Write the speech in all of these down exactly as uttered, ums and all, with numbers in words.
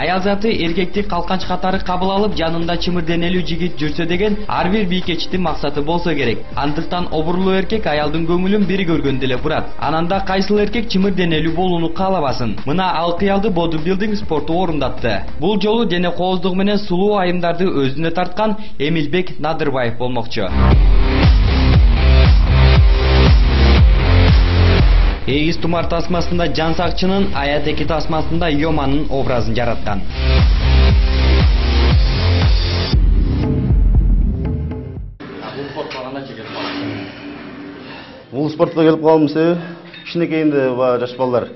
аял заты эркекти калканч катары кабыл алып, жанында чымыр денелүү жигит жүрсө деген ар бир бийкечтин максаты болсо керек. Андыктан обурлуу эркек аялдын көңүлүн бири көргөндө эле бурат. Ананда кайсыл эркек чымыр денелүү болууну каалабасын? Мына ал кыялды бодибилдинг спорту орундатты. Бул жолу дене кооздугу менен сулуу айымдарды өзүнө тарткан Эмилбек Надырбаев болмокчу. Эгиз тумар тасмасында Жан Сакчынын, Аятеки тасмасында Йоманын образын жараткан. Бул спортко келип калгандын себеби кичинекейинде баягы жаш балдар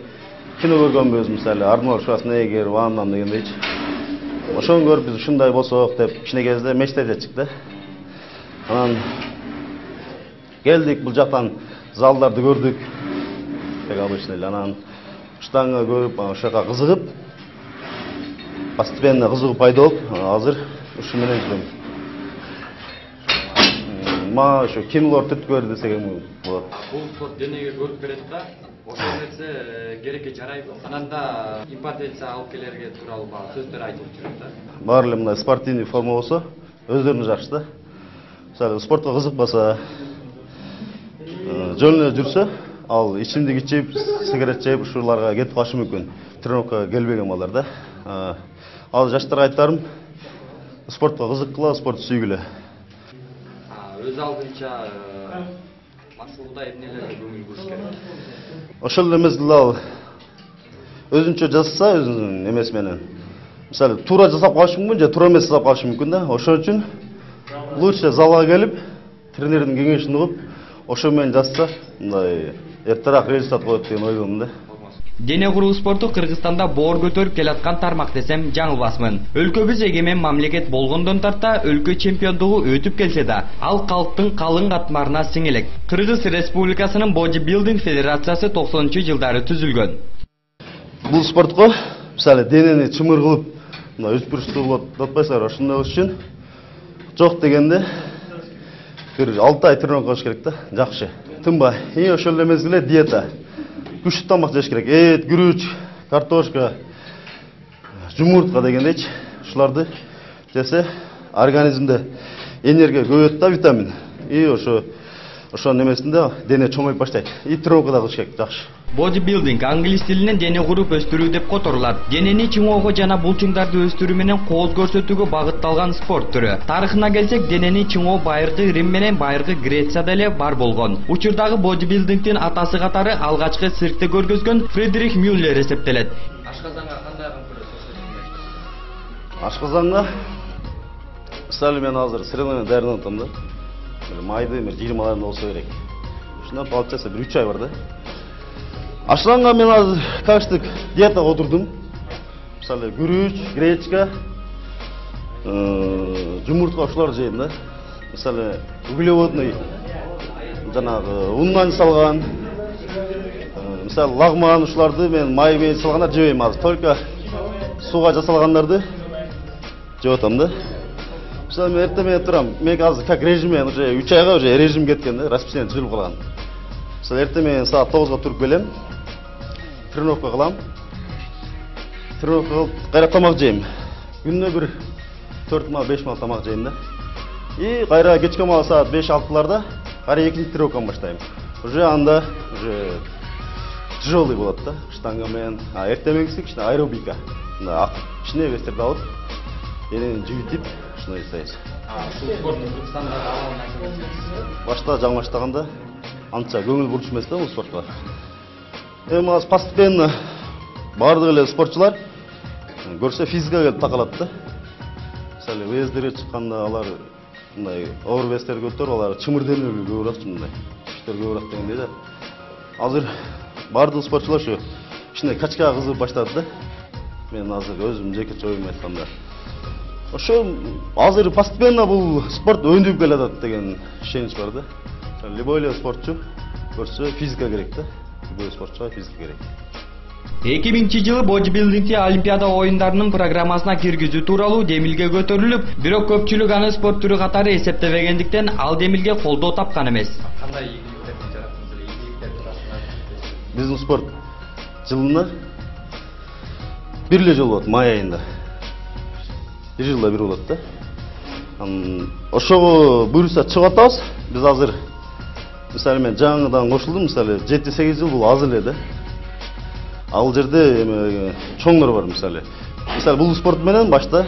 кино көргөнбүз, мисалы Арнольд Шварценеггер, Ван Дам дегендейчи. Ошону көрүп биз ушундай болсок деп кичинекейибизде мечтать этчик да. Анан келдик, бул жактан залдарды көрдүк. Как обычно, анан штанга көрүп, ошо жака кызыгып, постепенно кызыгуу пайда болуп, азыр ушу менен жүрөм. Ма ошо кинолор түрткү бер десек болот. Бул спорт денеге көрүп берет да, ошол нерсе керекке жарайбы? Ананда импотенция алып келерге тууралуу сөздөр айтылып жүрөт да. Баары эле мындай спортивный форма болсо, өздөрүнө жакшы да. Мисалы спортко кызыкпаса, жөн эле жүрсө, ал ичимдик ичип, сигарет чегип ушуларга кетип калышы мүмкүн. Тренировкага келбеген балдар да. Ал жаштарга айтарым, спортко кызыккыла, спорт сүйгүлө. Өз алдынча максулда эмнелерге көңүл буруш керек? Ошол эле мезгилде ал өзүнчө жасаса, өзүнүн эмеси менен. Мисалы, туура жасап калышы мүмкүн, же туура эмес жасап калышы мүмкүн да. Ошон үчүн лучше залга келип, тренердин кеңешин угуп, ошо менен жасса, мындай эртерээк результат коет деген ойдомун да. Дене куруу спорту Кыргызстанда боор көтөрүп келаткан тармак десем жаңылбасмын. Өлкөбүз эгемен мамлекет болгондон тарта өлкө чемпиондугу өтүп келсе да, ал калктын калың катмарына сиңелек. Кыргыз Республикасынын бодибилдинг федерациясы токсонунчу жылдары түзүлгөн. Бул спортко, мисалы, денени чымыр кылып, мына өспүрүштүү болот атпайсыздар, ошондой үчүн жок дегенде бир алты ай тренировка кылыш керек да, жакшы. Тынбай. И ошол эле мезгилде диета. Күчтүү тамак жеш керек. Эт, күрүч, картошка, жумуртка дегендейчи. Ушуларды жесе организмде энергия көбөйөт да, витамин. И ошо ошонун эмесинде дене чоңоюп баштайт. И тренировка да кылыш керек, жакшы. Бодибилдинг англис тилинен дене куруп өстүрүү деп которулат. Денени чыңоого жана булчуңдарды өстүрүү менен кооз көрсөтүүгө багытталган спорт түрү. Тарыхына келсек, денени чыңоо байыркы Рим менен байыркы Грецияда эле бар болгон. Учурдагы бодибилдингдин атасы катары алгачкы циркте көргөзгөн Фридрих Мюллер эсептелет. Ашказанга кандай көрөсүз? Ашказанга мисалы мен азыр сырелмен даярданып атам да. Майды жыйырмаларында болсо керек. Ушундан получается бир үч ай бар да. Ашказанга мен азыр качтык диетага отурдум. Мисалы күрүч, гречка, жумуртка ушуларды жейм да. Мисалы углеводный жанагы ундан жасалган, мисалы лагман ушуларды мен май менен жасалгандар жебейм азыр. Только сууга жасалгандарды жеп атам да. Мисалы мен эртең менен турам. Мен азыр как режиммен уже үч айга уже режим кеткен да, расписание түзүлүп калган. Мисалы эртең менен саат тогузга туруп келем. Тренировка кылам. Тренировка кылып, кайра тамак жейм. Күнүнө бир төрт мал, беш мал тамак жейм да. И кайра кечке мал саат беш алтыларда кайра экинчи тренировканы баштайм. Уже анда уже тяжелый болот да, штанга менен. А эртең менгиси кичине аэробика. Мына кичине вестерди алып, денени жибитип, ушуну жасайбыз. Ушул спорттун Кыргызстанда абалын айтып башта жаңы баштаганда анча көңүл буруш эмес да бул спортко. Эми азыр постепенно бардык эле спортчулар көрсө физикага келип такалат да. Мисалы вездерге чыкканда алар мындай оор вестерди көтөрүп, алар чымыр денелүү көбүрөөк мындай күчтөр көбүрөөк дегендей да. Азыр бардык спортчулар ушу кичине качкага кызыгып баштады да. Мен азыр өзүм жеке оюм айтканда ошо азыр постепенно бул спорт өндүп келатат деген ишенич бар да. Любой эле спортчу көрсө физика керек да. Любой спортчуга физика керек. эки миңинчи жылы бодибилдингти Олимпиада оюндарынын программасына киргизүү тууралуу демилге көтөрүлүп, бирок көпчүлүк аны спорт түрү катары эсептебегендиктен ал демилге колдоо тапкан эмес. Кандай ийгиликтерди жараттыңыз эле? Ийгиликтерди расында биздин спорт жылына бир эле жолу болот, май айында. бир жылда бир болот да. Ошого буюрса чыгып атабыз. Биз азыр мисалы мен жаңыдан кошулдум, мисалы жети сегиз жыл бул аз эле да. Ал жерде эме чоңдор бар мисалы. Мисалы бул спорт менен башта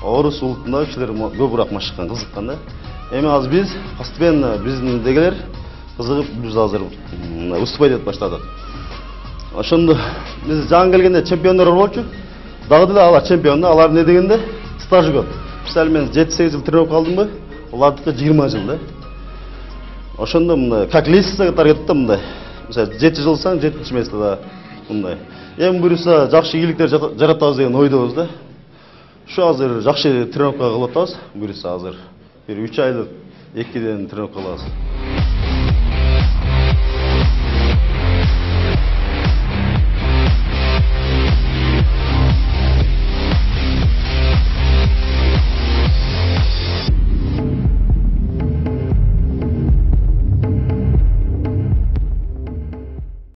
орус улутунда кишилер көбүрөөк машыккан, кызыккан да. Эми азыр биз постепенно биздегилер кызыгып биз азыр выступать этип баштадык. Ошондо биз жаңы келгенде чемпиондор болчу. Дагы деле алар чемпион да, алар не дегенде стажы көп. Мисалы мен жети сегиз жыл тренировка алдымбы, алардыкы жыйырма жыл да. Ошондо мындай как лестница катары кетти да мындай. Мисалы жети жылсаң жетинчи месте да мындай. Эми буюрса жакшы ийгиликтер жаратабыз деген ойдобуз да. Şu азыр жакшы тренировка кылып атабыз. Буюрса азыр бир үч айлык экиден тренировка кылабыз.